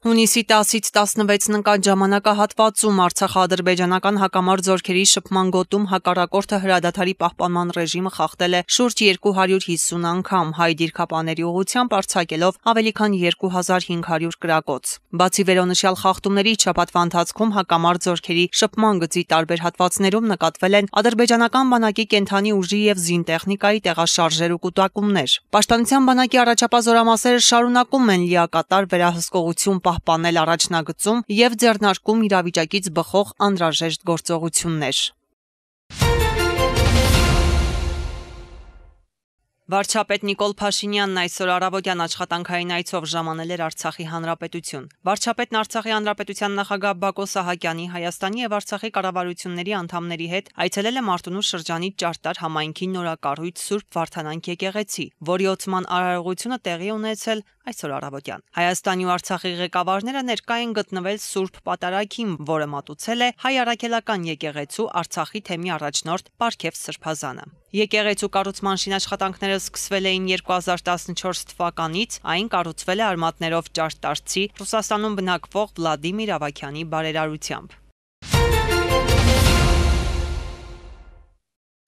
Հունիսի 10-ից 16-ն ընկած ժամանակահատվածում արցախա-ադրբեջանական հակամարտ զորքերի շփման գոտում հակառակորդը հրադադարի պահպանման ռեժիմը խախտել է շուրջ 250 անգամ, հայ դիրքապաների ուղղությամբ արձակելով ավելի քան 2500 կրակոց։ Բացի վերոնշյալ խախտումներից, շաբաթվա ընթացքում հակամարտ զորքերի շփման գծի տարբեր հատվածներում նկատվել են ադրբեջանական բանակի կենդանի ուժի և զինտեխնիկայի տեղաշարժեր ու կուտակումներ։ Պաշտպանության բանակի առաջապահ զորամասերը շարունակում են լիակատար վերահսկողություն պահպանել առաջնագծում և ձեռնարկում իրավիճակից բխող անհրաժեշտ գործողություններ։ Վարչապետ Նիկոլ Փաշինյանն այսօր առավոտյան աշխատանքային այցով ժամանել էր Արցախի Հանրապետություն։ Վարչապետն Արցախի Հանրապետության նախագահ Բակո Սահակյանի, Հայաստանի և Արցախի կառավարությունների անդամների հետ այցելել է Մարտունու շրջանի Ճարտար համայնքի նորակառույց Սուրբ Վարդանանք եկեղեցի, որի ոցման արարողությունը տեղի ունեցել այսօր առավոտյան։ Հայաստանի ու Արցախի ղեկավարները ներկա են գտնվել Սուրբ Պատարագին, որը մատուցել է Հայ Առաքելական եկեղեցու Արցախի թեմի առաջնորդ Պարքև Սրբազանը։ Եկեղեցու կառուցման շինաշխատանքները սկսվել էին 2014 թվականից, այն կառուցվել է արմատներով ճարտարցի Ռուսաստանում բնակվող Վլադիմիր Ավագյանի բարերարությամբ։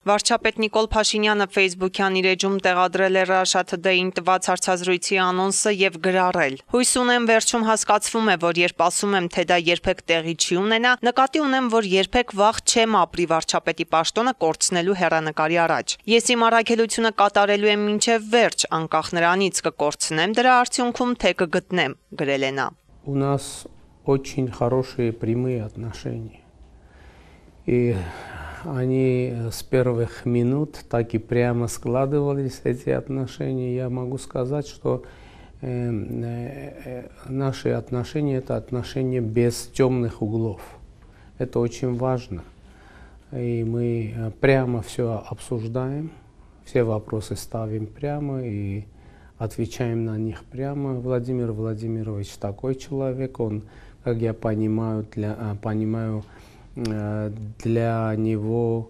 Վարչապետ Նիկոլ Փաշինյանը Facebook-յան իր էջում տեղադրել է Russia Today-ին տված հարցազրույցի անոնսը և գրառել. «Հույս ունեմ վերջում հասկացվում է, որ երբ ասում եմ, թե դա երբեք տեղի չի ունենա, նկատի ունեմ, որ երբեք վաղ չեմ ապրի վարչապետի պաշտոնը կորցնելու հեռանկարի առաջ։ Ես իմ առաքելությունը կատարելու եմ մինչև վերջ, անկախ նրանից կկորցնեմ դրա արդյունքում, թե կգտնեմ», գրել է նա։ У нас очень хорошие прямые отношения. И они с первых минут так и прямо складывались, эти отношения. Я могу сказать, что наши отношения – это отношения без темных углов. Это очень важно. И мы прямо все обсуждаем, все вопросы ставим прямо и отвечаем на них прямо. Владимир Владимирович такой человек, он, как я понимаю, для него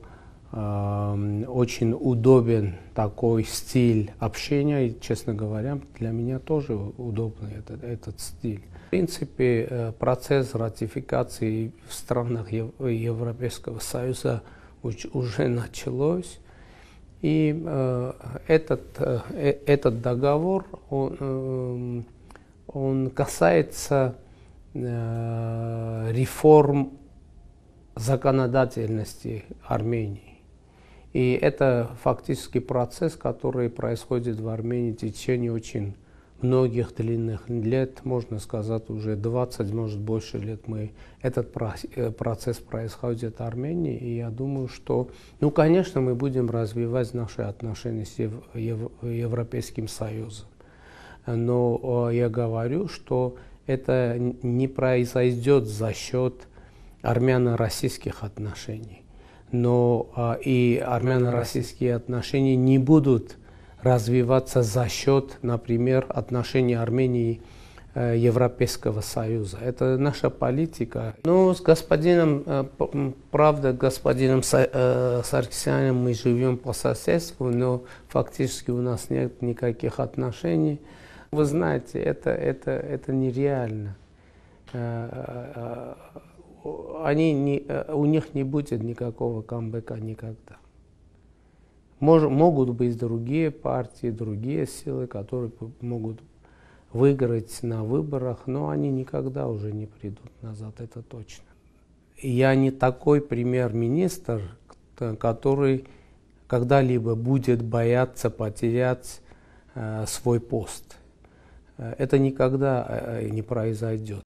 очень удобен такой стиль общения, и, честно говоря, для меня тоже удобный этот стиль. В принципе, процесс ратификации в странах Европейского Союза уже началось, и этот договор, он касается реформ законодательности Армении. И это фактически процесс, который происходит в Армении в течение очень многих длинных лет, можно сказать, уже 20, может больше лет этот процесс происходит в Армении, и я думаю, что, конечно, мы будем развивать наши отношения с Европейским Союзом, но я говорю, что это не произойдет за счет армяно-российских отношений, но и армяно-российские отношения не будут развиваться за счет, например, отношений Армении и Европейского Союза. Это наша политика. Ну, с господином Саркисяном мы живем по соседству, но фактически у нас нет никаких отношений. Вы знаете, это нереально. У них не будет никакого камбэка никогда. Могут быть другие партии, другие силы, которые могут выиграть на выборах, но они никогда уже не придут назад, это точно. Я не такой премьер-министр, который когда-либо будет бояться потерять свой пост. Это никогда не произойдет.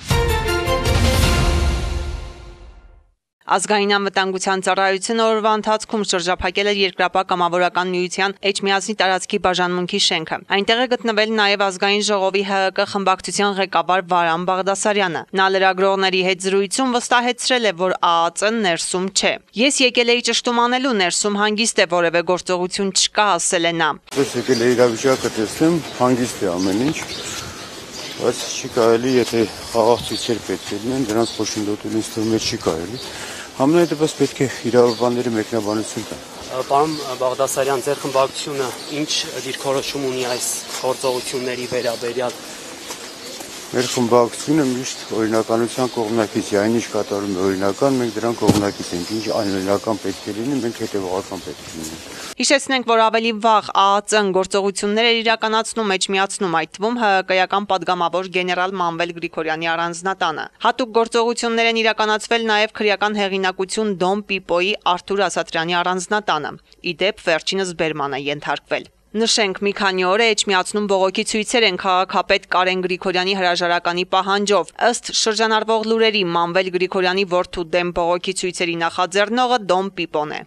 Ազգային անվտանգության ծառայությունը օրվա ընթացքում շրջափակել էր Երկրապահ կամավորական միության Էջմիածնի տարածքի բաժանմունքի շենքը։ Այնտեղ է գտնվել նաև ազգային ժողովի ՀՀԿ խմբակցության ղեկավար Վարան Բաղդասարյանը։ Նա լրագրողների հետ զրույցում վստահեցրել է, որ ԱԱԾ-ն ներսում չէ։ Ես եկել էի ճշտում անելու, ներսում հանգիստ է, որևէ գործողություն չկա, ասել է նա։ Ես եկել էի իրավիճակը տեսնեմ, հանգիստ է ամեն ինչ, բայց չի կարելի, եթե խաղաղ ցույցեր պետք է լինեն, դրանց խոշնդոտել ինձ թվում է չի կարելի։ Համենայնպես պետք է իրավաբանների մեկնաբանություն տան։ Պարոն Բաղդասարյան, ձեր խմբակցությունը ինչ դիրքորոշում ունի այս գործողությունների վերաբերյալ։ Մեր խմբակցությունը միշտ օրինականության կողմնակից է, այնինչ կատարում է օրինական, մենք դրան կողմնակից ենք, ինչ անօրինական պետք է լինի, մենք հետևողական պետք է լինենք։ Հիշեցնենք, որ ավելի վաղ ԱԱԾ-ն գործողություններ էր իրականացնում մեջմիացնում, այդ թվում ՀԿ-ական падգամավոր գեներալ Մանվել Գրիգորյանի առանձնատանը։ Հատուկ գործողություններ են իրականացվել նաև քրեական հեղինակություն Դոն Պիպոյի Արթուր Ասատրյանի առանձնատանը։ Իդեպ վերջինս բերման է ենթարկվել։ Նշենք, մի քանի օր է Էջմիածնում բողոքի ցույցեր են քաղաքապետ Կարեն Գրիգորյանի հրաժարականի պահանջով։ Ըստ շրջանառվող լուրերի, Մանվել Գրիգորյանի որդու դեմ բողոքի ցույցերի նախաձեռնողը Դոն Պիպոն է։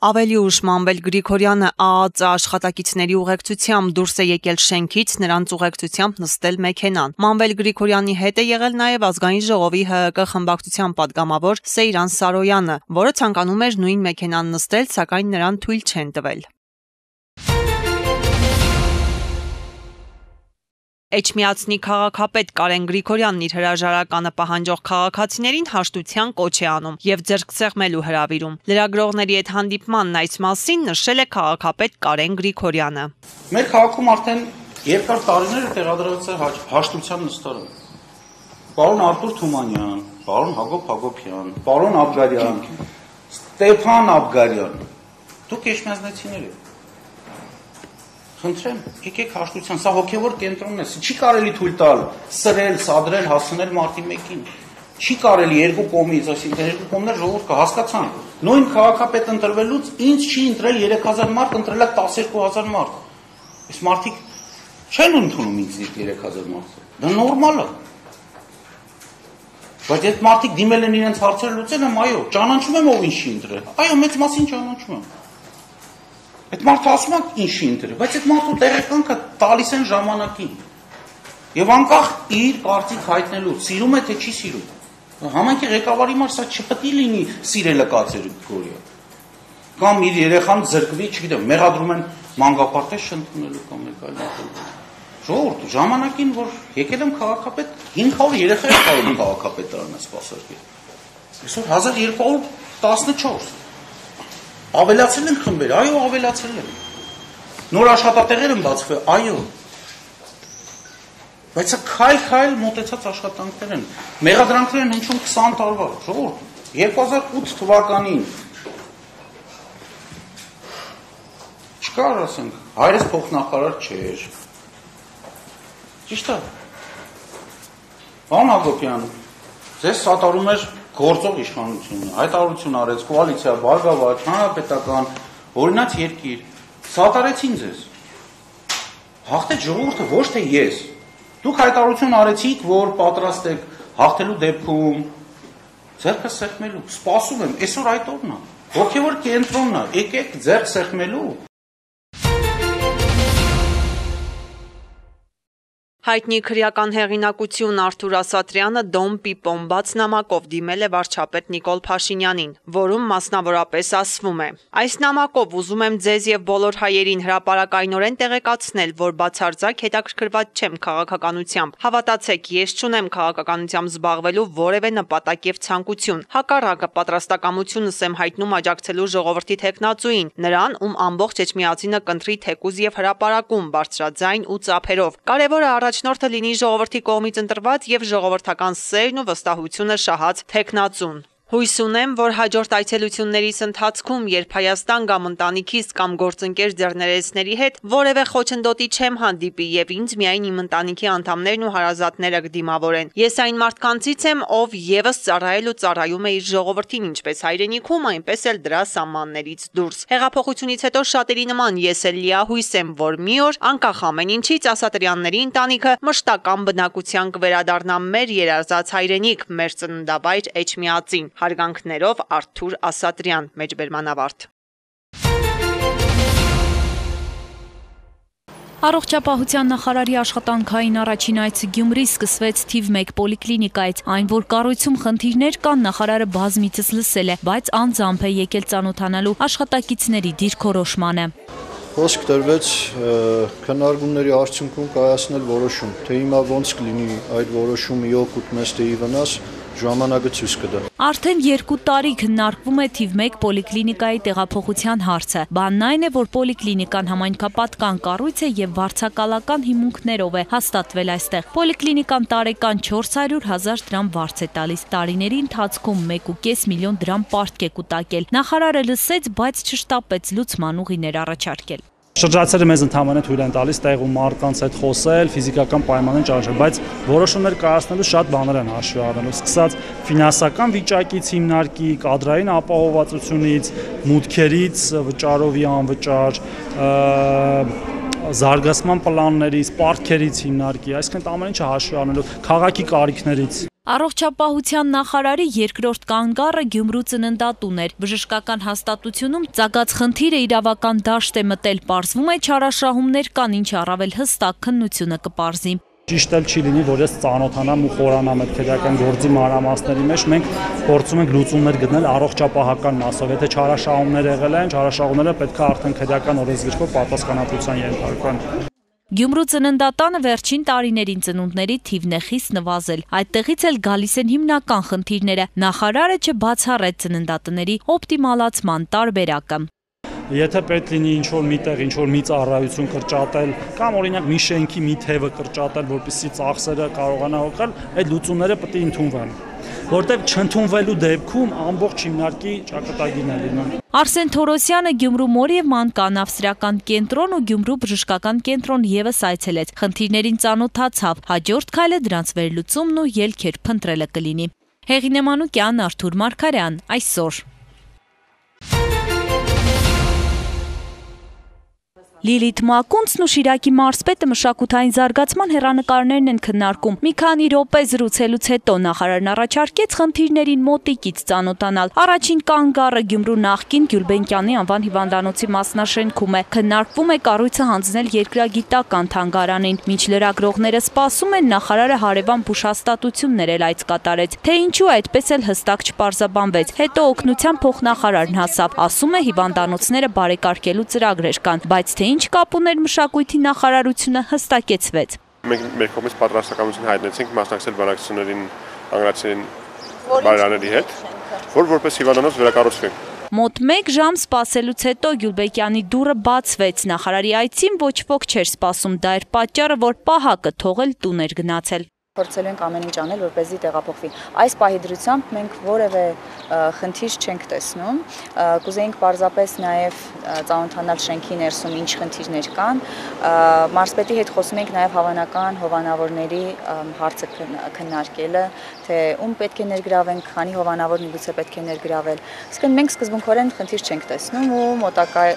Ավելի ուշ Մանվել Գրիգորյանը ԱԱԾ աշխատակիցների ուղեկցությամբ դուրս է եկել շենքից, նրանց ուղեկցությամբ նստել մեքենան։ Մանվել Գրիգորյանի հետ է եղել նաև ազգային ժողովի ՀՀԿ խմբակցության падգամավոր Սեյրան Սարոյանը, որը ցանկանում էր նույն մեքենան նստել, սակայն նրան թույլ չեն տվել։ Էջմիածնի քաղաքապետ Կարեն Գրիգորյանն իր հրաժարականը պահանջող քաղաքացիներին հաշտության կոչ է անում եւ ձեռքսեղմելու հրավիրում։ Լրագրողների հետ հանդիպմանն այս մասին նշել է քաղաքապետ Կարեն Գրիգորյանը։ Մեր քաղաքում արդեն երկար տարիներ է տեղադրված է հաշտության նստարան։ Պարոն Արտուր Թումանյան, պարոն Հակոբ Հակոբյան, պարոն Աբգարյան, Ստեփան Աբգարյան, դուք էջմիածնեցիներ եք։ Խնդրեմ, եկեք հաշտության, սա հոգևոր կենտրոնն է, չի կարելի թույլ տալ սրել, սադրել, հասցնել մարտի 1-ին։ Չի կարելի երկու կողմից, այսինքն երկու կողմներ ժողովուրդ կհասկացան։ Նույն քաղաքապետ ընտրվելուց ինձ չի ընտրել 3000 մարդ, ընտրել է 12000 մարդ։ Այս մարդիկ չեն ընդունում ինձ 3000 մարդ։ Դա նորմալ է։ Բայց այդ մարդիկ դիմել են իրենց հարցերը լուծել եմ, այո, ճանաչում եմ ով ինչի ընտրել։ Այո, մեծ մասին ճանաչում եմ։ Այդ մարդը ասում է ինչի ընտրել, բայց այդ մարդու տեղեկանքը տալիս են ժամանակին։ Եվ անկախ իր կարծիք հայտնելու, սիրում է թե չի սիրում։ Համայնքի ղեկավարի համար սա չպետք է լինի սիրելը կատեգորիա։ Կամ իր երեխան զրկվի, չգիտեմ, մեղադրում են մանկապարտեզ չընդունելու կամ մեկ այլ բան։ Ժողովուրդ, ժամանակին որ եկել եմ քաղաքապետ, 500 երեխա է կարող քաղաքապետարանը սպասարկել։ Այսօր 1214 Ավելացել են խմբեր, այո, ավելացել են։ Նոր աշխատատեղեր են բացվել, այո։ Բայց քայլ-քայլ մոտեցած աշխատանքներ են։ Մեղադրանքներ են հնչում 20 տարվա, ժողովուրդ, 2008 թվականին չկար, ասենք, հայրս փոխնախարար չէր։ Ճիշտ է։ Պարոն Հակոբյան, ձեզ սատարում էր գործող իշխանությունը, հայտարարություն արեց, կոալիցիա, բարգավաճ, հանրապետական, օրինաց երկիր, սատարեցին ձեզ։ Հաղթեց ժողովուրդը, ոչ թե ես։ Դուք հայտարարություն արեցիք, որ պատրաստ եք հաղթելու դեպքում ձեռքը սեղմելու, սպասում եմ, այսօր այդ օրն է, հոգևոր կենտրոնն է, եկեք ձեռք սեղմելու։ Հայտնի քրեական հեղինակություն Արթուր Ասատրյանը Դոն Պիպոն բաց նամակով դիմել է վարչապետ Նիկոլ Փաշինյանին, որում մասնավորապես ասվում է. Այս նամակով ուզում եմ ձեզ եւ բոլոր հայերին հրապարակայնորեն տեղեկացնել, որ բացարձակ հետաքրքրված չեմ քաղաքականությամբ։ Հավատացեք, ես չունեմ քաղաքականությամբ զբաղվելու որևէ նպատակ եւ ցանկություն։ Հակառակը պատրաստակամությունս եմ հայտնում աջակցելու ժողովրդի թեկնածուին, նրան, ում ամբողջ Էջմիածինը կընտրի թեկուզ եւ հրապարակում, բարձրաձայն ու ծափերով։ Կարևորը առաջնորդը լինի ժողովրդի կողմից ընտրված եւ ժողովրդական սերն ու վստահությունը շահած թեկնածուն։ Հույս ունեմ, որ հաջորդ այցելություններիս ընթացքում, երբ Հայաստան կամ ընտանիքիս կամ գործընկեր ձեռներեցների հետ որևէ խոչընդոտի չեմ հանդիպի եւ ինձ միայն իմ ընտանիքի անդամներն ու հարազատները կդիմավորեն։ Ես այն մարդկանցից եմ, ով եւս ծառայել ու ծառայում է իր ժողովրդին, ինչպես հայրենիքում, այնպես էլ դրա սահմաններից դուրս։ Հեղափոխությունից հետո շատերի նման ես էլ լիահույս եմ, որ մի օր, անկախ ամեն ինչից, Ասատրյանների ընտանիքը մշտական բնակության կվերադառնա մեր երազած հայրենիք, մեր ծննդավայր Էջմիածին։ Հարգանքներով Արթուր Ասատրյան, մեջբերման ավարտ։ Առողջապահության նախարարի աշխատանքային առաջին այցը Գյումրի սկսվեց թիվ 1 պոլիկլինիկայից, այն որ կառույցում խնդիրներ կան, նախարարը բազմիցս լսել է, բայց անձամբ է եկել ծանոթանալու աշխատակիցների դիրքորոշմանը։ Խոսք տրվեց քննարկումների արդյունքում կայացնել որոշում, թե հիմա ոնց կլինի այդ որոշումը օգուտ մեզ թե ի վնաս ժամանակը ցույց կտա։ Արդեն 2 տարի քննարկվում է թիվ 1 պոլիկլինիկայի տեղափոխության հարցը։ Բանն այն է, որ պոլիկլինիկան համայնքապատկան կառույց է եւ վարձակալական հիմունքներով է հաստատվել այստեղ։ Պոլիկլինիկան տարեկան 400,000 դրամ վարձ է տալիս։ Տարիների ընթացքում 1.5 միլիոն դրամ պարտք է կուտակել։ Նախարարը լսեց, բայց չշտապեց լուծման ուղիներ առաջարկել։ Շրջացերը մեզ ընդհանրապես թույլ են տալիս տեղում մարդկանց հետ խոսել, ֆիզիկական պայմաններ ճանաչել, բայց որոշումներ կայացնելու շատ բաներ են հաշվի առնելու, սկսած ֆինանսական վիճակից հիմնարկի, կադրային ապահովվածությունից, մուտքերից, վճարովի անվճար, զարգացման պլաններից, պարտքերից հիմնարկի, այսինքն ամեն ինչը հաշվի առնելու, քաղաքի կարիքներից։ Առողջապահության նախարարի երկրորդ կանգառը Գյումրու ծննդատուն էր։ Բժշկական հաստատությունում ծագած խնդիրը իրավական դաշտ է մտել, պարզվում է չարաշահումներ կան, ինչը առավել հստակ քննությունը կպարզի։ Ճիշտ էլ չի լինի, որ ես ծանոթանամ ու խորանամ այդ քրեական գործի մանրամասների մեջ, մենք փորձում ենք լուծումներ գտնել առողջապահական մասով։ Եթե չարաշահումներ եղել են, չարաշահումները պետք է արդեն քրեական օրենսգրքով պատասխանատվության ենթարկվեն։ Գյումրու ծննդատանը վերջին տարիներին ծնունդների թիվն է խիստ նվազել։ Այդտեղից էլ գալիս են հիմնական խնդիրները։ Նախարարը չբացառեց ծննդատների օպտիմալացման տարբերակը։ Եթե պետք լինի ինչ-որ միտեղ, ինչ-որ մի ծառայություն կրճատել, կամ օրինակ մի շենքի մի թևը կրճատել, որպեսզի ծախսերը կարողանա օգնել, այդ լուծումները պետք է ընդունվեն։ Որտեղ չընդունվելու դեպքում ամբողջ հիմնարկի ճակատագիրն է լինում։ Արսեն Թորոսյանը Գյումրու մոր եւ մանկանավսրական կենտրոն ու Գյումրու բժշկական կենտրոն եւս այցելեց։ Խնդիրներին ծանոթացավ, հաջորդ քայլը դրանց վերլուծումն ու ելքեր փնտրելը կլինի։ Հեղինե Մանուկյան, Արթուր Մարգարյան, այսօր։ Լիլիթ Մակունցն ու Շիրակի մարզպետը մշակութային զարգացման հեռանկարներն են քննարկում։ Մի քանի րոպե զրուցելուց հետո նախարարն առաջարկեց խնդիրներին մոտիկից ծանոթանալ։ Առաջին կանգառը Գյումրու նախկին Գյուլբենկյանի անվան հիվանդանոցի մասնաշենքում է։ Քննարկվում է կառույցը հանձնել երկրագիտական թանգարանին։ Մինչ լրագրողները սպասում են, նախարարը հարևան բուժհաստատություններ էլ այց կատարեց։ Թե ինչու այդպես էլ հստակ չպարզաբանվեց։ Հետո օգնության փոխնախարարն հասավ, ասում է հիվանդանոցները բարեկարգելու ծրագրեր կան, բայց թե ինչ կապ ուներ մշակույթի նախարարությունը հստակեցվեց։ Մենք մեր կողմից պատրաստականություն հայտնեցինք մասնակցել բանակցություններին անգլիացին բարերարների հետ, որպես հիվանդանոց վերակառուցվենք։ Մոտ 1 ժամ սպասելուց հետո Գյուլբեկյանի դուռը բացվեց։ Նախարարի այցին ոչ ոք չէր սպասում, դա էր պատճառը, որ պահակը թողել տուն էր գնացել։ Փորձել ենք ամեն ինչ անել, որպեսզի տեղափոխվի։ Այս պահի դրությամբ մենք որևէ խնդիր չենք տեսնում։ Կուզեինք պարզապես նաև ծանոթանալ շենքի ներսում ինչ խնդիրներ կան։ Մարզպետի հետ խոսում ենք նաև հավանական հովանավորների հարցը քննարկելը, թե ում պետք է ներգրավենք, քանի հովանավոր միգուցե պետք է ներգրավել։ Իսկ մենք սկզբունքորեն խնդիր չենք տեսնում ու մոտակա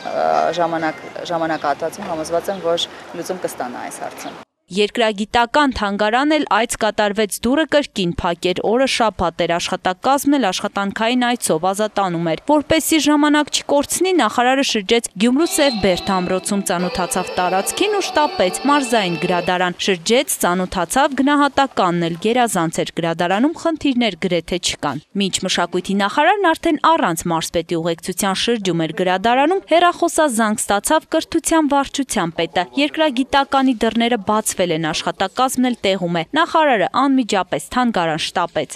ժամանակահատվածում համոզված եմ, որ լուծում կստանա այս հարցը։ Երկրագիտական թանգարան էլ այց կատարվեց, դուռը կրկին փակեր, օրը շաբաթ էր, աշխատակազմն էլ աշխատանքային այցով ազատանում էր։ Որպեսզի ժամանակ չկորցնի, նախարարը շրջեց Գյումրու Սև Բերդ ամրոցում, ծանոթացավ տարածքին ու շտապեց մարզային գրադարան, շրջեց, ծանոթացավ գնահատականն էլ, գերազանց էր, գրադարանում խնդիրներ գրեթե չկան։ Մինչ մշակույթի նախարարն արդեն առանց մարզպետի ուղեկցության շրջում էր գրադարանում, հեռախոսազանգ ստացավ կրթության վարչության պետը։ Երկրագիտականի դռները բացվել են, աշխատակազմն էլ տեղում է։ Նախարարը անմիջապես թանգարան շտապեց։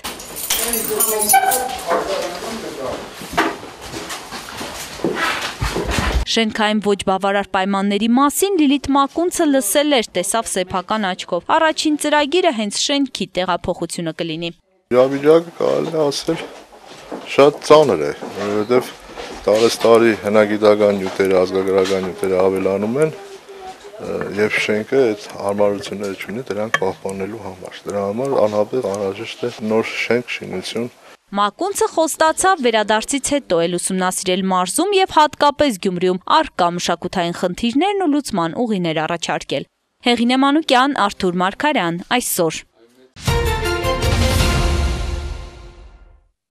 Շենքային ոչ բավարար պայմանների մասին Լիլիթ Մակունցը լսել էր, տեսավ սեփական աչքով։ Առաջին ծրագիրը հենց շենքի տեղափոխությունը կլինի։ Իրավիճակը կարելի է ասել շատ ծանր է, որովհետև տարեստարի հնագիտական նյութերը, ազգագրական նյութերը ավելանում են եւ շենքը այդ հարմարությունները չունի դրանք պահպանելու համար։ Դրա համար անհապաղ անհրաժեշտ է նոր շենք, շինություն։ Մակունցը խոստացավ վերադարձից հետո էլ ուսումնասիրել մարզում եւ հատկապես Գյումրիում առկա մշակութային խնդիրներն ու լուծման ուղիներ առաջարկել։ Հեղինե Մանուկյան, Արթուր Մարգարյան, այսօր։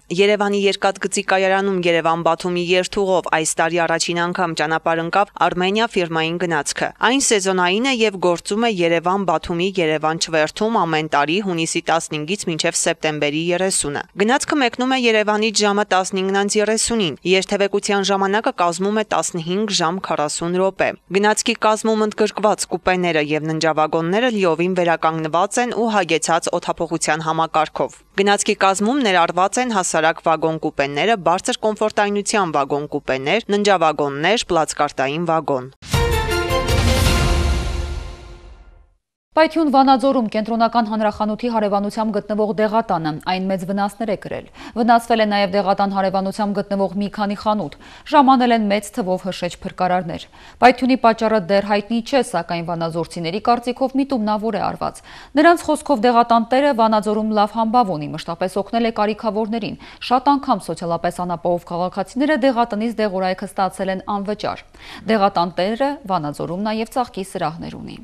Երևանի երկաթգծի կայարանում Երևան-Բաթումի երթուղով այս տարի առաջին անգամ ճանապարհ ընկավ Արմենիա ֆիրմային գնացքը։ Այն սեզոնային է եւ գործում է Երևան-Բաթումի Երևան չվերթում ամեն տարի հունիսի 15-ից մինչեւ սեպտեմբերի 30-ը։ Գնացքը մեկնում է Երևանից ժամը 15:30-ին։ Երթևեկության ժամանակը կազմում է 15 ժամ 40 րոպե։ Գնացքի կազմում ընդգրկված կուպեները եւ ննջավագոնները լիովին վերականգնված են ու հագեցած օդափոխության համակարգով։ Գնացքի կազմում ներառված են հասարակ վագոն կուպեները, բարձր կոմֆորտայնության վագոն կուպեներ, ննջավագոններ, պլացկարտային վագոն։ Պայթյուն Վանաձորում կենտրոնական հանրախանութի հարևանությամբ գտնվող դեղատանը այն մեծ վնասներ է կրել։ Վնասվել է նաև դեղատան հարևանությամբ գտնվող մի քանի խանութ, ժամանել են մեծ թվով հրշեջ փրկարարներ։ Պայթյունի պատճառը դեռ հայտնի չէ, սակայն վանաձորցիների կարծիքով միտումնավոր է արված։ Նրանց խոսքով դեղատան տերը Վանաձորում լավ համբավ ունի, մշտապես օգնել է կարիքավորներին։ Շատ անգամ սոցիալապես անապահով քաղաքացիները դեղատնից դեղորայքը ստացել են անվճար։ Դեղատան տերը Վանաձորում նաև ծաղկի սրահներ ունի։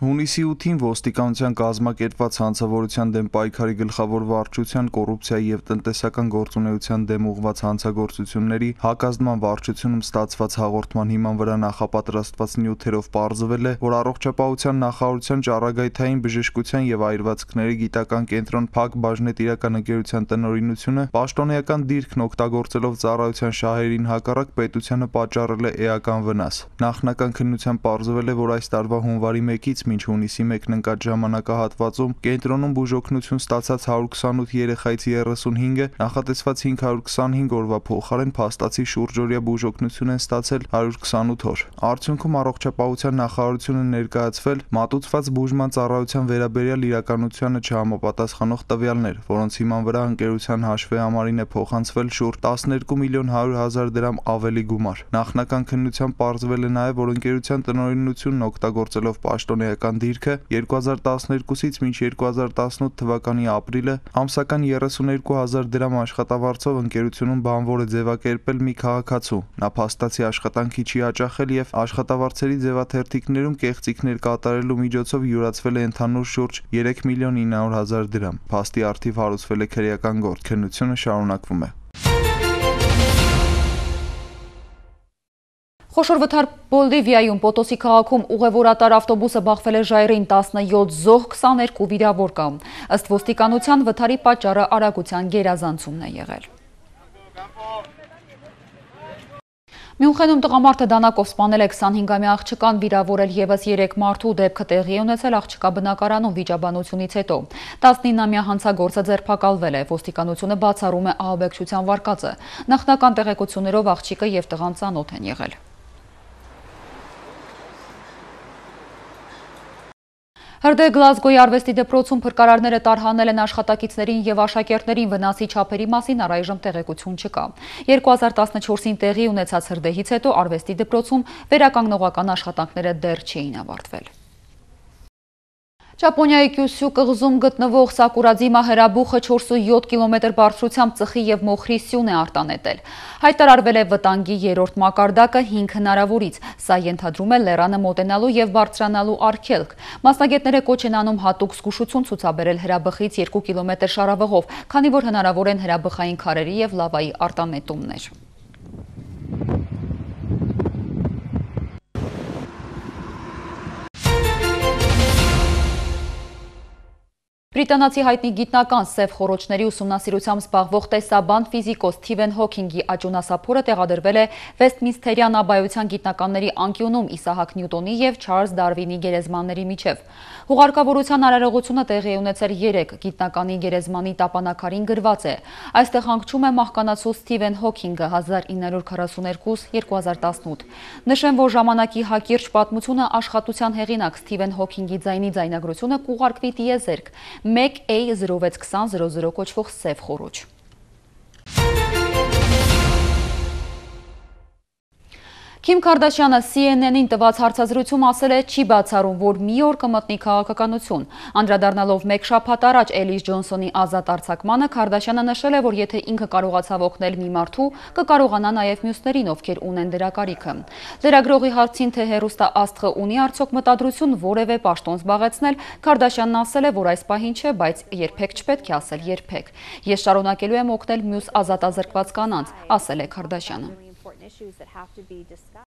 Հունիսի 8-ին ոստիկանության կազմակերպված հանցավորության դեմ պայքարի գլխավոր վարչության, կոռուպցիայի եւ տնտեսական գործունեության դեմ ուղղված հանցագործությունների հակազդման վարչությունում ստացված հաղորդման հիման վրա նախապատրաստված նյութերով պարզվել է, որ առողջապահության նախարարության ճառագայթային բժշկության եւ այրվածքների գիտական կենտրոն Փակ բաժնետիրական ընկերության տնօրինությունը պաշտոնեական դիրքն օգտագործելով ծառայության շահերին հակառակ պետությանը պատճառել է էական վնաս։ Նախնական քննությամբ պարզվել է, որ այս տարվա հունվարի 1-ից մինչ հունիսի 1-ն ընկած ժամանակահատվածում կենտրոնում բուժօգնություն ստացած 128 երեխայից 35-ը նախատեսված 525 օրվա փոխարեն փաստացի շուրջօրյա բուժօգնություն են ստացել 128 օր։ Արդյունքում առողջապահության նախարարությունը ներկայացվել մատուցված բուժման ծառայության վերաբերյալ իրականությանը չհամապատասխանող տվյալներ, որոնց հիման վրա ընկերության հաշվեհամարին է փոխանցվել շուրջ 12 միլիոն 100 հազար դրամ ավելի գումար։ Նախնական քննությամբ պարզվել է նաև, որ ընկերության տնօրինությունն օգտագործելով պաշտոնեական դիրքը 2012-ից մինչ 2018 թվականի ապրիլը ամսական 32,000 դրամ աշխատավարձով ընկերությունում բանվոր է ձևակերպել մի քաղաքացու։ Նա փաստացի աշխատանքի չի հաճախել եւ աշխատավարձերի ձևաթերթիկներում կեղծիքներ կատարելու միջոցով յուրացվել է ընդհանուր շուրջ 3 միլիոն 900 հազար դրամ։ Փաստի առթիվ հարուցվել է քրեական գործ։ Քննությունը շարունակվում է։ Խոշոր վթար Բոլիվիայում Պոտոսի քաղաքում ուղևորատար ավտոբուսը բախվել է ժայռին, 17 զոհ, 22 վիրավոր կա։ Ըստ ոստիկանության վթարի պատճառը արագության գերազանցումն է եղել։ Մյունխենում տղամարդը դանակով սպանել է 25-ամյա աղջկան, վիրավորել եւս 3 մարդու, դեպքը տեղի է ունեցել աղջկա բնակարանում վիճաբանությունից հետո։ 19-ամյա հանցագործը ձերբակալվել է, ոստիկանությունը բացառում է ահաբեկչության վարկածը։ Նախնական տեղեկություններով աղջիկը եւ տղան ծանոթ են եղել։ Հրդեհ Գլազգոյի արվեստի դպրոցում փրկարարները տարհանել են աշխատակիցներին եւ աշակերտներին, վնասի չափերի մասին առայժմ տեղեկություն չկա։ 2014-ին տեղի ունեցած հրդեհից հետո արվեստի դպրոցում վերականգնողական աշխատանքները դեռ չէին ավարտվել։ Ճապոնիայի Կյուսյու կղզում գտնվող Սակուրաձիմա հրաբուխը 4.7 կիլոմետր բարձրությամբ ծխի եւ մոխրի սյուն է արտանետել։ Հայտարարվել է վտանգի 3-րդ մակարդակը 5 հնարավորից։ Սա ենթադրում է լեռանը մոտենալու եւ բարձրանալու արգելք։ Մասնագետները կոչ են անում հատուկ զգուշություն ցուցաբերել հրաբխից 2 կիլոմետր շարավղով, քանի որ հնարավոր են հրաբխային քարերի եւ լավայի արտանետումներ։ Բրիտանացի հայտնի գիտնական սև խոռոչների ուսումնասիրությամբ զբաղվող տեսաբան ֆիզիկոս Սթիվեն Հոքինգի աճյունասափորը տեղադրվել է Վեսթմինսթերյան աբայության գիտնականների անկյունում Իսահակ Նյուտոնի եւ Չարլզ Դարվինի գերեզմանների միջև։ Հուղարկավորության արարողությունը տեղի ունեցել 3 գիտնականի գերեզմանի տապանակարին գրված է։ Այստեղ հանգչում է մահկանացու Սթիվեն Հոքինգը 1942-2018։ Նշեմ, որ ժամանակի հակիրճ պատմությունը աշխատության հեղինակ Սթիվեն Հոքինգի ձայնի ձայնագրությունը կուղարկվի տիեզերք 1A062000 կոչվող սև խոռոչ։ Քիմ Քարդաշյանը CNN-ին տված հարցազրույցում ասել է չի բացառում, որ մի օր կմտնի քաղաքականություն։ Անդրադառնալով մեկ շաբաթ առաջ Էլիս Ջոնսոնի ազատ արձակմանը, Քարդաշյանը նշել է, որ եթե ինքը կարողացավ օգնել մի մարդու, կկարողանա նաև մյուսներին, ովքեր ունեն դրա կարիքը։ Լրագրողի հարցին, թե հեռուստաաստղը ունի արդյոք մտադրություն որևէ պաշտոն զբաղեցնել, Քարդաշյանն ասել է, որ այս պահին չէ, բայց երբեք չպետք է ասել երբեք։ Ես շարունակելու եմ օգնել մյուս ազատազրկված կանանց, ասել է Քարդաշյանը։ Issues that have to be discussed.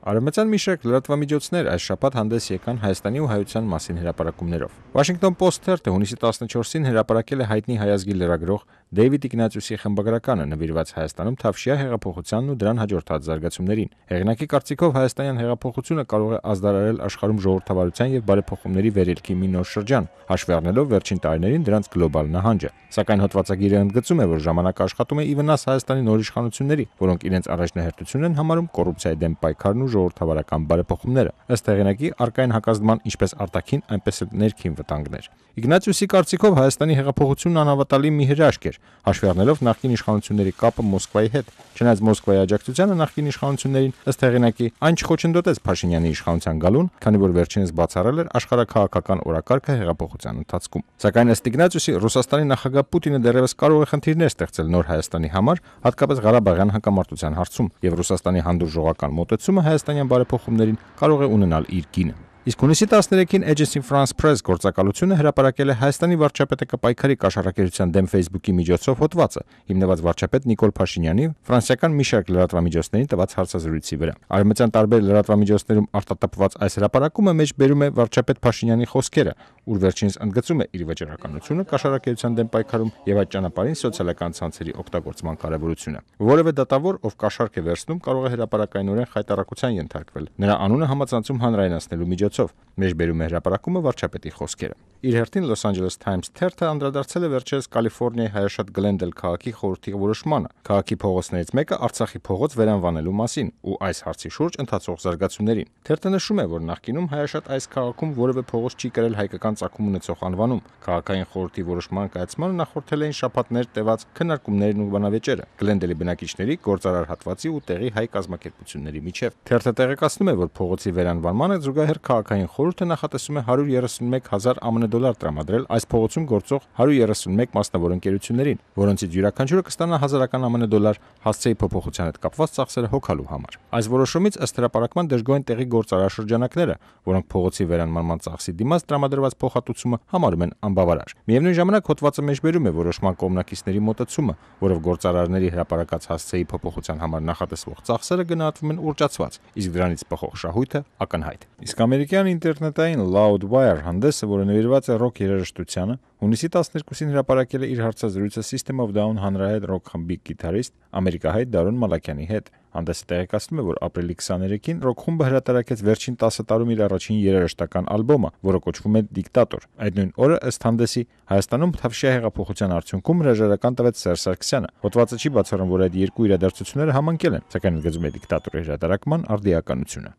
Արևմտյան մի շարք լրատվամիջոցներ այս շաբաթ հանդես եկան Հայաստանի ու հայության մասին հրապարակումներով։ Washington Post թերթը հունիսի 14-ին հրապարակել է հայտնի հայազգի լրագրող Դեյվիդ Իգնատիուսի խմբագրականը նվիրված Հայաստանում Թավշյա հեղափոխությանն ու դրան հաջորդած զարգացումներին։ Հեղինակի կարծիքով հայաստանյան հեղափոխությունը կարող է ազդարարել աշխարհում ժողովրդավարության եւ բարեփոխումների վերելքի մի նոր շրջան, հաշվի առնելով վերջին տարիներին դրանց գլոբալ նահանջը։ Սակայն հոդվածագիրը ընդգծում է, որ ժամանակը աշխատում է ի վնաս Հայաստանի նոր իշխանությունների, որոնք իրենց առաջնահերթություն են համարում կոռուպցիայի դեմ պայքարն ու ժողովրդավարական բարեփոխումները։ Ըստ հեղինակի, առկային հակազդման ինչպես արտաքին, այնպես էլ ներքին վտանգներ։ Իգնատիուսի կարծիքով Հայաստանի հեղափոխությունն անհավատալի մի հրաշք էր, հաշվի առնելով նախկին իշխանությունների կապը Մոսկվայի հետ։ Չնայած Մոսկվայի աջակցությանը նախկին իշխանություններին, ըստ հեղինակի, այն չխոչընդոտեց Փաշինյանի իշխանության գալուն, քանի որ վերջինս բացառել էր աշխարհաքաղաքական օրակարգը հեղափոխության ընթացքում։ Սակայն ըստ Իգնատիուսի, Ռուսաստանի նախագահ Պուտինը դեռևս կարող է խնդիրներ ստեղծել նոր Հայաստանի համար, հատկապես Ղարաբաղյան հակամարտության հարցում, եւ Ռուսաստանի հանդուրժողական մոտեցումը հայաստանյան բարեփոխումներին կարող է ունենալ իր գինը։ Իսկ հունիսի 13-ին Agence France-Press գործակալությունը հրապարակել է Հայաստանի վարչապետը կպայքարի կաշառակերության դեմ Facebook-ի միջոցով հոդվածը, հիմնված վարչապետ Նիկոլ Փաշինյանի ֆրանսիական մի շարք լրատվամիջոցներին տված հարցազրույցի վրա։ Արևմտյան տարբեր լրատվամիջոցներում արտատպված այս հրապարակումը մեջ բերում է վարչապետ Փաշինյանի խոսքերը, ուր վերջինս ընդգծում է իր վճռականությունը կաշառակերության դեմ պայքարում եւ այդ ճանապարհին սոցիալական ցանցերի օգտագործման կարեւորությունը։ Որևէ դատավոր, ով կաշառք է վերցնում, կարող է հրապարակայնորեն խայտարակության ենթարկվել։ Նրա անունը համացանցում հանրայնացնելու միջոցով մեջբերում է հրապարակումը վարչապետի խոսքերը։ Իր հերթին Los Angeles Times թերթը անդրադարձել է վերջերս Կալիֆոռնիայի հայաշատ Գլենդել քաղաքի խորհրդի որոշմանը քաղաքի փողոցներից մեկը Արցախի փողոց վերանվանելու մասին ու այս հարցի շուրջ ընթացող զարգացումներին։ Թերթը նշում է, որ նախկինում հայաշատ այս քաղաքում որևէ փողոց չի կրել հայկական ծագում ունեցող անվանում։ Քաղաքային խորհրդի որոշման կայացմանը նախորդել էին շաբաթներ տևած քննարկումներն ու բանավեճերը Գլենդելի բնակիչների, գործարար հատվածի ու տեղի հայ կազմակերպությունների միջև։ Թերթը տեղեկացնում է, որ փողոցի վերանվանմանը զուգահեռ քաղաքային խորհուրդը նախատեսում է 131,000 ԱՄՆ դոլար տրամադրել այս փողոցում գործող 131 մասնավոր ընկերություններին, որոնցից յուրաքանչյուրը կստանա 1000 ԱՄՆ դոլար հասցեի փոփոխության հետ կապված ծախսերը հոգալու համար։ Այս որոշումից ըստ հրապարակման դժգոհ տեղի գործարար շրջանակները, որոնք փողոցի վերանվանման ծախսի դիմաց տրամադրված փոխհատուցումը համարում են անբավարար։ Միևնույն ժամանակ հոդվածը մեջբերում է որոշման կողմնակիցների մոտեցումը, որով գործարարների հրապարակած հասցեի փոփոխության համար նախատեսվող ծախսերը գնահատվում են ուռճացված, իսկ դրանից բխող շահույթը ակնհայտ։ Իսկ ամերիկյան ինտերնետային Loudwire հանդեսը, որը նվիրված է ռոք երաժշտությանը, հունիսի 12-ին հրապարակել է իր հարցազրույցը System of a Down հանրահայտ ռոք խմբի գիտարիստ ամերիկահայ Դարոն Մալաքյանի հետ։ Հանդեսը տեղեկացնում է, որ ապրիլի 23-ին ռոք խումբը հրատարակեց վերջին 10 տարում իր առաջին երաժշտական ալբոմը, որը կոչվում է Դիկտատոր։ Այդ նույն օրը ըստ հանդեսի Հայաստանում Թավշյա հեղափոխության արդյունքում հրաժարական տվեց Սերժ Սարգսյանը։ Հոդվածը չի բացառում, որ այդ երկու իրադարձությունները համընկել են, սակայն ընդգծում է Դիկտատորի հրատարակման արդիականությունը։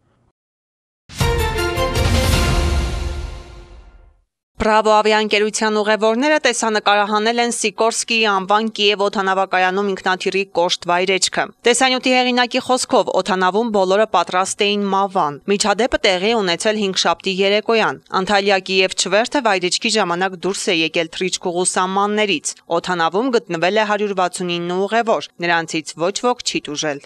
Բրավո ավիաընկերության ուղևորները տեսանկարահանել են Սիկորսկիի անվան Կիև օդանավակայանում ինքնաթիռի կոշտ վայրեջքը։ Տեսանյութի հեղինակի խոսքով օդանավում բոլորը պատրաստ էին մավան։ Միջադեպը տեղի ունեցել 5-շաբթի երեկոյան։ Անտալիա Կիև չվերթը վայրեջքի ժամանակ դուրս է եկել Թրիչկուղու սահմաններից։ Օդանավում գտնվել է 169 ուղևոր, նրանցից ոչ ոք չի տուժել։